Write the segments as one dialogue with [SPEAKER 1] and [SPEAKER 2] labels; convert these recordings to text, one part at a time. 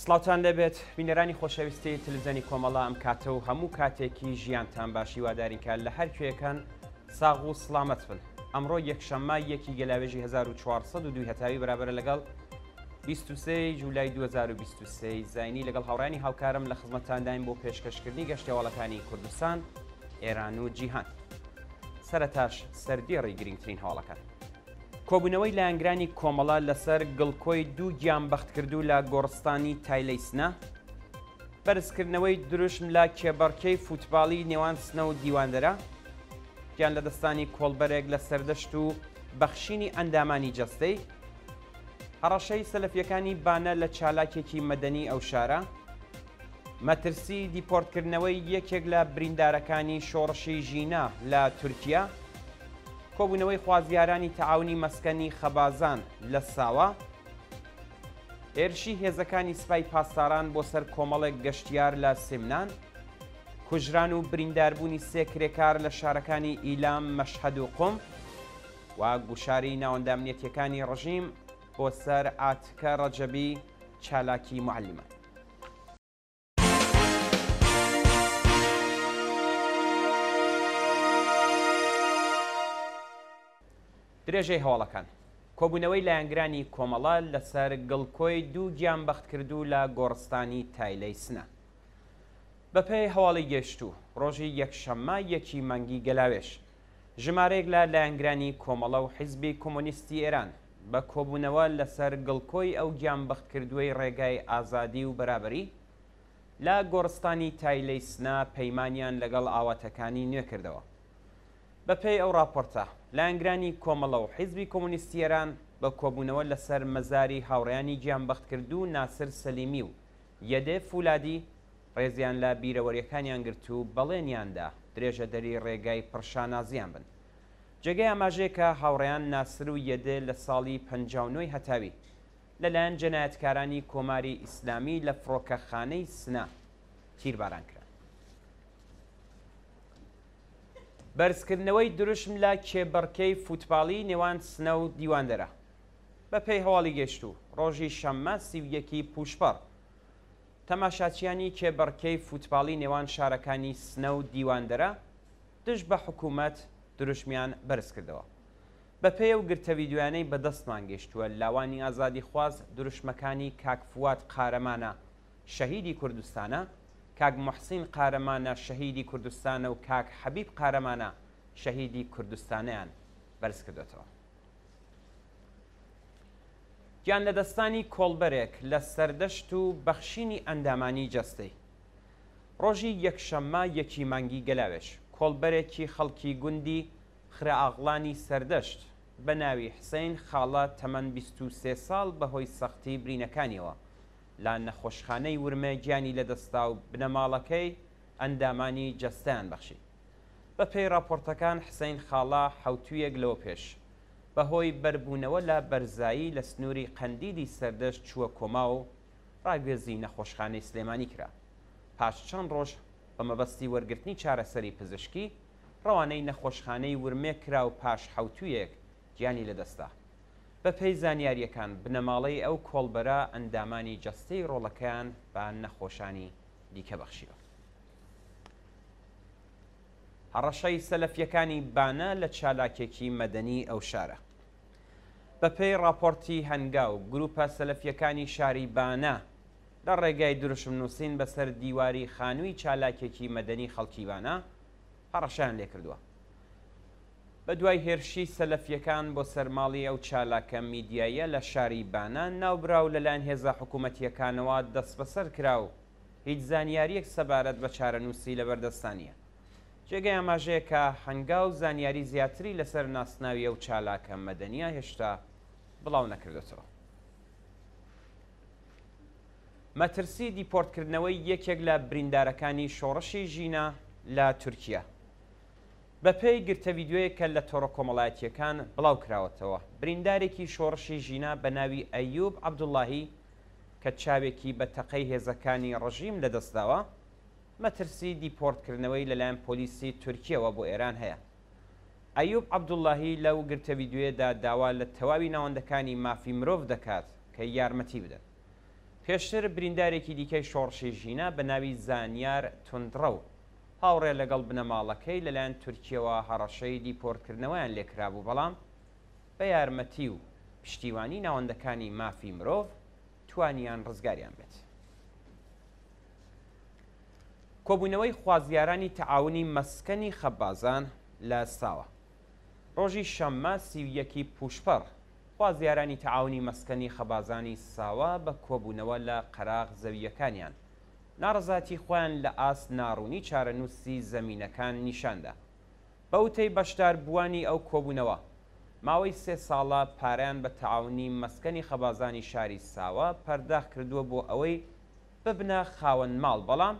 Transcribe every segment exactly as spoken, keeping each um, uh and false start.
[SPEAKER 1] سڵاوتان لێبێت بینەرانی خۆشەویستی تەلەڤیزیۆنی کۆمەڵە، ئەم کاتە و هەموو کاتێکی ژیانتان باشی وادارین کە لە هەر کوێکان ساغ و سڵامەت بن. ئەمڕۆ یەکشەممە یەکی گەلاوێژی هەزار و چوار سەد و دوو هەتاوی بەرابەرە لەگەڵ بیست و سێ جولای دوو هەزار و بیست و سێ زینی لەگەڵ هاوڕێیانی هاوکارم لە خزمەتتانداین بۆ پێشکەشکردنی گەشتەواڵەکانی کوردستان، ئێران و جیهان. سەرەتاش سەردێڕی گرنگترین هەواڵەکان. کۆبوونەوەی لایەنگرانی کۆمەڵە لەسەر گڵکۆی دوو گیان بەختکردوو لە گۆڕستانی تایلەی سنە، بەرزکردنەوەی دروشم لە کێبەڕکێی فوتباڵی نێوان سنە و دیواندەرە، گیان لە دەستانی کۆڵبەرێک لە سەردەشت و بەخشینی ئەندامانی جەستەی، هەڕەشەی سەلەفیەکانی بانە لە چالاکێکی مەدەنی ئەو شارە، مەترسی دیپۆرتکردنەوەی یەکێک لە بریندارەکانی شۆڕشی ژینا لە تورکیا، کۆبوونەوەی خوازیارانی تەعاونی مەسکەنی خەبازان لە ساوا، هێرشی هێزەکانی سپای پاسداران بۆ سەر کۆمەڵێک گەشتیار لە سمنان، کوژران و برینداربوونی سێ کرێکار لە شارەکانی ئیلام، مەشهەد و قوم و گوشاری ناوەندامنیەتیەکانی ڕژیم بۆ سەر عاتکە ڕەجەبی چالاکی معلمان. درێژەی هەواڵەکان. کۆبوونەوەی لایەنگرانی کۆمەڵە لەسەر گڵکۆی دوو گیان بەختکردوو لە گۆڕستانی تایلەی سنە. بەپێی هەواڵی گەشتوو ڕۆژی یەکشەممە یەکی مانگی گەلاوێژ ژمارەیەک لە لایەنگرانی کۆمەڵە و حیزبی کۆمۆنیستی ئێران بە کۆبوونەوە لەسەر گڵکۆی ئەو گیان بەختکردووەی ڕێگای ئازادی و بەرابەری لە گۆڕستانی تایلەی سنە پەیمانیان لەگەڵ ئاواتەکانی نوێ کردەوە. بەپێی ئەو راپۆرتە لایەنگرانی کۆمەڵە و حیزبی کۆمۆنیستی ئێران بە کۆبوونەوە لەسەر مەزاری هاوڕێیانی گیانبەختکردوو ناسر سەلیمی و یەدێ فولادی ڕێزیان لە بیرەوەریەکانیان گرت و بەڵێنیاندا درێژەدەری ڕێگای پڕشانازیان بن. جێگەی ئاماژەیە کە هاوڕێیان ناسر و یەدێ لە ساڵی پەنجا و نۆی هەتاوی لەلایەن جەنایەتکارانی کۆماری ئیسلامی لە فڕۆکەخانەی سنە تیرباران کران. بەرزکردنەوەی دروشم لە کێبڕکێی فوتباڵی نێوان سنە و دیواندەرە. بەپێی هەواڵی گەشتوو ڕۆژی شەممە سی و یەکی پوشپەڕ تەماشاچیانی کێبڕکێی فوتباڵی نێوان شارەکانی سنە و دیواندەرە دژ بە حکوومەت دروشمیان بەرز کردەوە. بەپێی ئەو گرتە ڤیدیۆیانەی بەدەستمان گەیشتووە لاوانی ئازادیخواز دروشمەکانی کاک فواد قارەمانە شەهیدی کوردستانە، کاک محسین قارەمانە شەهیدی کوردستانە و کاک حەبیب قارەمانە شەهیدی کوردستانیان بەرز کردوێتەوە. گیان لەدەستانی کۆڵبەرێک لە سەردەشت و بەخشینی ئەندامانی جەستەی. ڕۆژی یەکشەممە یەکی مانگی گەلاوێژ کۆڵبەرێکی خەڵکی گوندی خرەئاغڵانی سەردەشت بە ناوی حسین خاڵە تەمەن بیست و سێ ساڵ بەهۆی سەختی برینەکانیەوە لە نەخۆشخانەی ورمێ گیانی لەدەستا و بنەماڵەکەی ئەندامانی جەستەیان بەخشی. بەپێی راپۆرتەکان حسین خاڵە حەوتوویەک لەوە پێش بەهۆی بەربوونەوە لە بەرزایی لە سنووری قەندیلی سەردەشت چووە کۆما و ڕاگوێزی نەخۆشخانەی سلێمانی کرا. پاش چەند ڕۆژ بە مەبەستی وەرگرتنی چارەسەری پزیشکی ڕەوانەی نەخۆشخانەی ورمێ کرا و پاش حەوتوویەک گیانی لەدەستا. بەپێی زانیاریەکان بنەماڵەی ئەو کۆڵبەرە ئەندامانی جەستەی ڕۆڵەکەیان بە نەخۆشانی دیکە بەخشیوە. هەڕەشەی سەلەفیەکانی بانە لە چالاکێکی مەدەنی ئەو شارە. بەپێی راپۆرتی هەنگاو گروپە سەلەفیەکانی شاری بانە لە ڕێگای دروشم نووسین بەسەر دیواری خانووی چالاکێکی مەدەنی خەڵکی بانە هەڕەشەیان لێکردووە. بە دوای هێرشی سەلەفیەکان بۆ سەرماڵی ئەو چالاکە میدیاییە لە شاری بانە ناوبراو لەلایەن هێزە حکوومەتیەکانەوە دەستبەسەر کرا و هیچ زانیاریەک سەبارەت بە چارەنووسی لەبەردەستانیە. جێگەی ئاماژەیە کە هەنگاو زانیاری زیاتری لەسەر ناسناوی ئەو چالاکە مەدەنیە هێشتا بڵاو نەکردێتەوە. مەترسی دیپۆرتکردنەوەی یەکێک لە بریندارەکانی شۆڕشی ژینا لە تورکیا. بەپێی گرتە ڤیدیۆیەک کە لە تۆڕە کۆمەڵایەتیەکان بڵاو کراوەتەوە بریندارێکی شۆڕشی ژینا بە ناوی ئەیوب عەبدوڵڵاهی کە چاوێکی بە تەقەی هێزەکانی ڕژیم لەدەستداوە مەترسی دیپۆرتکردنەوەی لەلایەن پۆلیسی تورکیەوە بۆ ئێران هەیە. ئەیوب عەبدوڵڵاهی لەو گرتە ڤیدیۆیەدا داوا لە تەواوی ناوەندەکانی مافی مرۆڤ دەکات کە یارمەتی بدەن. پێشتر بریندارێکی دیکەی شۆڕشی ژینا بە ناوی زانیار توندڕەو هاوڕێ لەگەڵ بنەماڵەکەی لەلایەن تورکیەوە هەڕەشەی دیپۆرتکردنەوەیان لێکرابوو، بەڵام بە یارمەتی و پشتیوانی ناوەندەکانی مافی مرۆڤ توانیان ڕزگاریان بێت. کۆبوونەوەی خوازیارانی تەعاونی مەسکەنی خەبازان لە ساوە. ڕۆژی شەممە سی و یەکی پوشپەڕ خوازیارانی تەعاونی مەسکەنی خەبازانی ساوە بە کۆبوونەوە لە قەراغ زەویەکانیان ناڕەزایەتی خۆیان لە ئاست ناڕوونی چارەنووسی زەمینەکان نیشاندا. بە وتەی بەشداربووانی ئەو کۆبوونەوە ماوەی سێ ساڵە پارەیان بە تەعاونی مەسکەنی خەبازانی شاری ساوە پەرداخ کردووە بۆ ئەوەی ببنە خاوەن ماڵ، بەڵام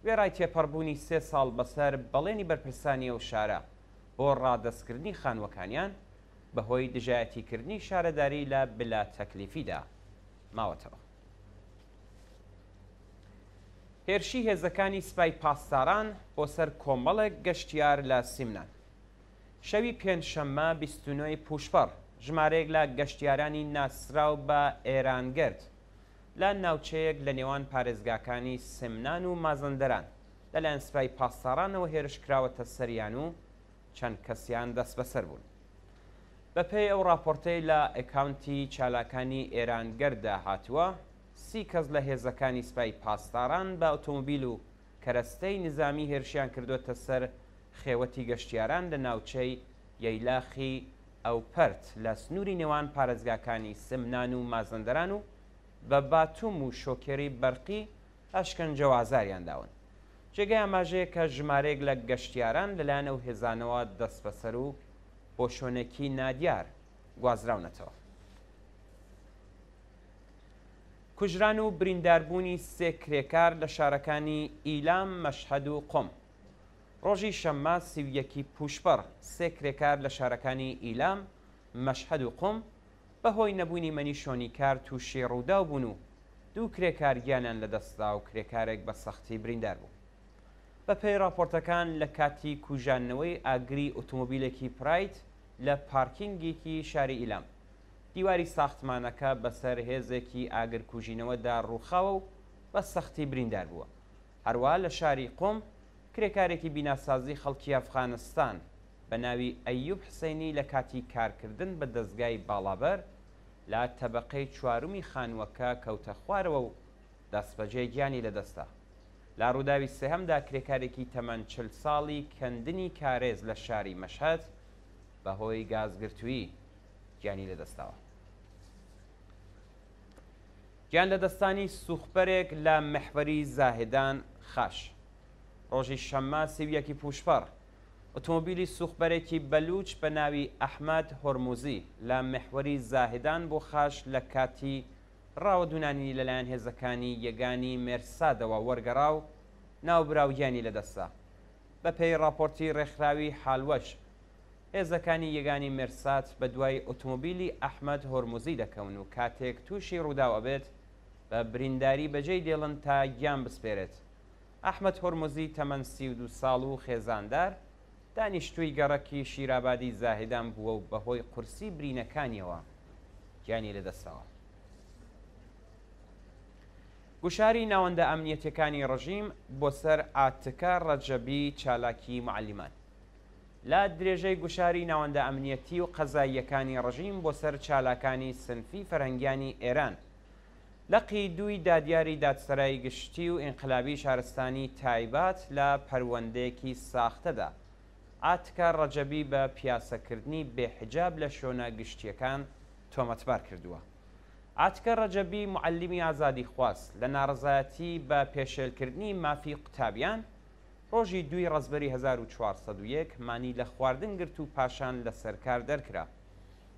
[SPEAKER 1] وێڕای تێپەڕبوونی سێ ساڵ بەسەر بەڵێنی بەرپرسانی ئەو شارە بۆ ڕادەستکردنی خانووەکانیان بەهۆی دژایەتیکردنی شارەداری لە بلا تەکلیفیدا ماوەتەوە. هێرشی هێزەکانی سپای پاسداران بۆ سەر کۆمەڵێک گەشتیار لە سیمنان. شەوی پێنجشەممە بیست و نۆی پوشپەڕ ژمارەیەک لە گەشتیارانی ناسراو بە ئێرانگرد لە ناوچەیەک لە نێوان پارێزگاکانی سمنان و مازەندەران لەلایەن سپای پاسدارانەوە هێرش کراوەتە سەریان و چەند کەسیان دەست بەسەر بوون. بەپێی ئەو راپۆرتەی لە ئەکاونتی چالاکانی ئێرانگەرددا هاتووە، سی کەس لە هێزەکانی سپای پاسداران بە ئۆتۆمۆبیل و کەرەستەی نظامی هێرشیان کردووەتە سەر خێوەتی گەشتیاران لە ناوچەی یەیلاخی ئەوپەرت لە سنووری نێوان پارێزگاکانی سمنان و مازەندەران و بە باتوم و شۆکێری بەرقی ئەشکەنجە و ئازاریان داون. جێگەی ئاماژەیە کە ژمارەیەک لە گەشتیاران لەلایەن ئەو هێزانەوە دەستبەسەر و بۆ شوێنێکی نادیار گوازراونەتەوە. کوژران و برینداربوونی سێ کرێکار لە شارەکانی ئیلام، مەشهەد و قۆم. ڕۆژی شەممە سی و یەکی پوشپەڕ سێ کرێکار لە شارەکانی ئیلام، مەشهەد و قۆم بەهۆی نەبوونی مەنی شۆنی کار تووشی ڕووداو بوون و دوو کرێکار گیانیان لەدەستدا و کرێکارێک بە سەختی بریندار بوو. بەپێی راپۆرتەکان لە کاتی کوژاندنەوەی ئاگری ئۆتۆمۆبیلێکی پرایت لە پارکینگێکی شاری ئیلام، دیواری ساختمانەکە بەسەر هێزێکی ئاگرکوژینەوەدا ڕووخاوە و بە سەختی بریندار بووە. هەروە لە شاری قۆم کرێکارێکی بیناسازی خەڵکی ئەفغانستان بە ناوی ئەیوب حسێنی لە کاتی کارکردن بە دەستگای باڵابەر لە تەبەقەی چوارمی خانووەکە کەوتە خوارەوە و دەستبەجێ گیانی لەدەستا. لە ڕووداوی سێهەمدا کرێکارێکی تەمەن چل ساڵی کەندنی کارێز لە شاری مەشهەد بەهۆی گازگرتوویی گیانی لەدەستاوە. گیان لەدەستانی سوخبەرێک لە محوەری زاهدان خاش. ڕۆژی شەممە سی و یەکی پوشپەڕ ئۆتۆمۆبیلی سوخبەرێکی بەلوچ بە ناوی ئەحمەد هۆرموزی لە محوەری زاهدان بۆ خاش لە کاتی ڕاوەدونانی لەلایەن هێزەکانی یەگانی مێرسادەوە وەرگەڕا و ناوبراو گیانی لەدەستا. بەپێی راپۆرتی ڕێکخراوی حالوەش هێزەکانی یەگانی مێرساد بە دوای ئۆتۆمۆبیلی ئەحمەد هۆرموزی دەکەون و کاتێک تووشی ڕووداو ئەبێت بە برینداری بەجێی دێڵن تا گیان بسپێرێت. ئەحمەد هۆرموزی تەمەن سی و دوو ساڵ و خێزاندار دانیشتووی گەڕەکی شیرابادی زاهدان بووە و بەهۆی قورسی برینەکانیەوە گیانی لەدەستاوە. گوشاری ناوەندە ئەمنیەتەکانی ڕژیم بۆ سەر عاتکە ڕەجەبی چالاکی معەلیمان. لە درێژەی گوشاری ناوەندە ئەمنیەتی و قەزاییەکانی ڕژیم بۆ سەر چالاکانی سنفی فەرهەنگیانی ئێران، لقی دووی دادیاری دادسەرای گشتی و ئینقلابی شارستانی تایبات لە پەروەندەیەکی ساختەدا عاتکە ڕەجەبی بە پیاسەکردنی بێحجاب لە شوێنە گشتیەکان تۆمەتبار کردووە. عاتکە ڕەجەبی معەلیمی ئازادی خواست لە ناڕەزایەتی بە پێشێلکردنی مافی قوتابیان ڕۆژی دووی ڕەزبەری هەزار و چوار سەد و یەک مانی لە خواردن گرت و پاشان لە سەرکار دەرکرا.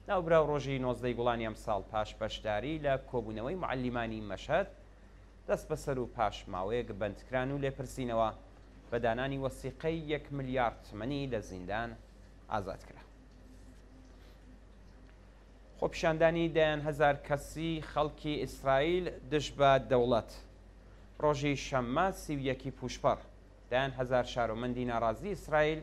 [SPEAKER 1] ناوبراو ڕۆژی نۆزدەی گوڵانی ئەمساڵ پاش بەشداری لە کۆبوونەوەی معەلیمانی مەشهەد دەست بەسەر و پاش ماوەیەک بەندکران و لێپرسینەوە بە دانانی وەسیقەی یەک ملیارد تمەنی لە زیندان ئازاد کرا. خۆپیشاندانی دەیان هەزار کەسی خەڵکی ئیسرائیل دژ بە دەوڵەت. ڕۆژی شەممە سی و یەکی پوشپەڕ دەیان هەزار شارۆمەندی ناڕازی ئیسرائیل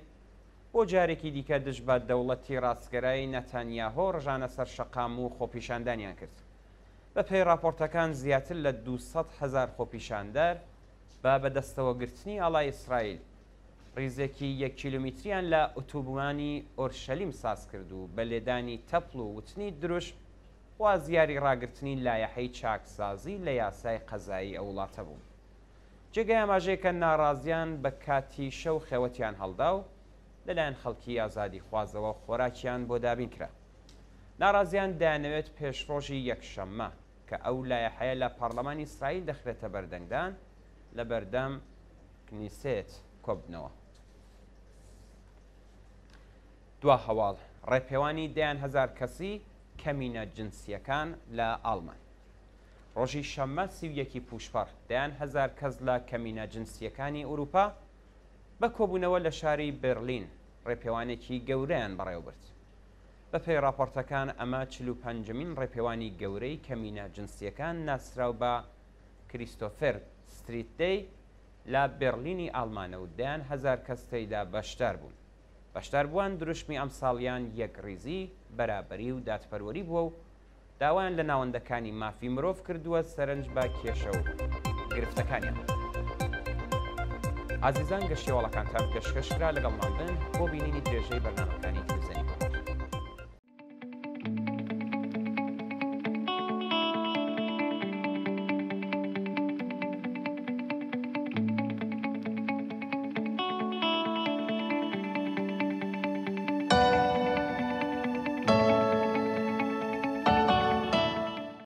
[SPEAKER 1] بۆ جارێکی دیکە دژ بە دەوڵەتی ڕاستگەرای نەتانیاهۆ ڕژانە سەر شەقام و خۆپیشاندانیان کرد. بەپێی ڕاپۆرتەکان زیاتر لە دوو سەد هەزار خۆپیشاندەر بە بەدەستەوەگرتنی ئاڵای ئیسرائیل ڕیزێکی یەک کیلۆمیتریان لە ئۆتۆبوانی ئۆرشەلیم ساز کرد و بە لێدانی تەپڵ و وتنی دروشم خوازیاری ڕاگرتنی لایەحەی چاکسازی لە یاسای قەزایی ئەو وڵاتە بوون. جێگای ئاماژەیە کە ناڕازیان بە کاتی شەو خێوەتیان هەڵدا و لەلایەن خەڵکی ئازادیخوازەوە خۆراکیان بۆ دابین کرا. ناڕازیان دەیانەوێت پێش ڕۆژی یەکشەممە کە ئەو لایەحەیە لە پەرلەمانی ئیسرائیل دەخرێتە بەردەنگدان لە بەردەم کنیسێت کۆببنەوە. دوا هەواڵ ڕێپێوانی دەیان هەزار کەسی کەمینە جنسیەکان لە ئاڵمان. ڕۆژی شەممە سی و یەکی پووشپەڕ دەیان هەزار کەس لە کەمینە جنسیەکانی ئەوروپا بە کۆبوونەوە لە شاری بەرلین ڕێپێوانێکی گەورەیان بەڕێوەبرد. بەپێی راپۆرتەکان ئەمە چل و پەنجەمین ڕێپێوانی گەورەی کەمینە جنسیەکان ناسراو بە کریستۆفەر ستریت دەی لە بەرلینی ئاڵمانە و دەیان هەزار کەس تێیدا بەشدار بوون. بەشداربووان دروشمی ئەمساڵیان یەکڕیزی، بەرابەری و دادپەروەری بووە و داوایان لە ناوەندەکانی مافی مرۆڤ کردووە سەرنج بە کێشە و گرفتەکانیان بدەن. ئازیزان گەشتیەواڵەکانتان پێشکەش کرا، لەگەڵمان بن بۆ بینینی درێژەی بەرنامەکانی تر.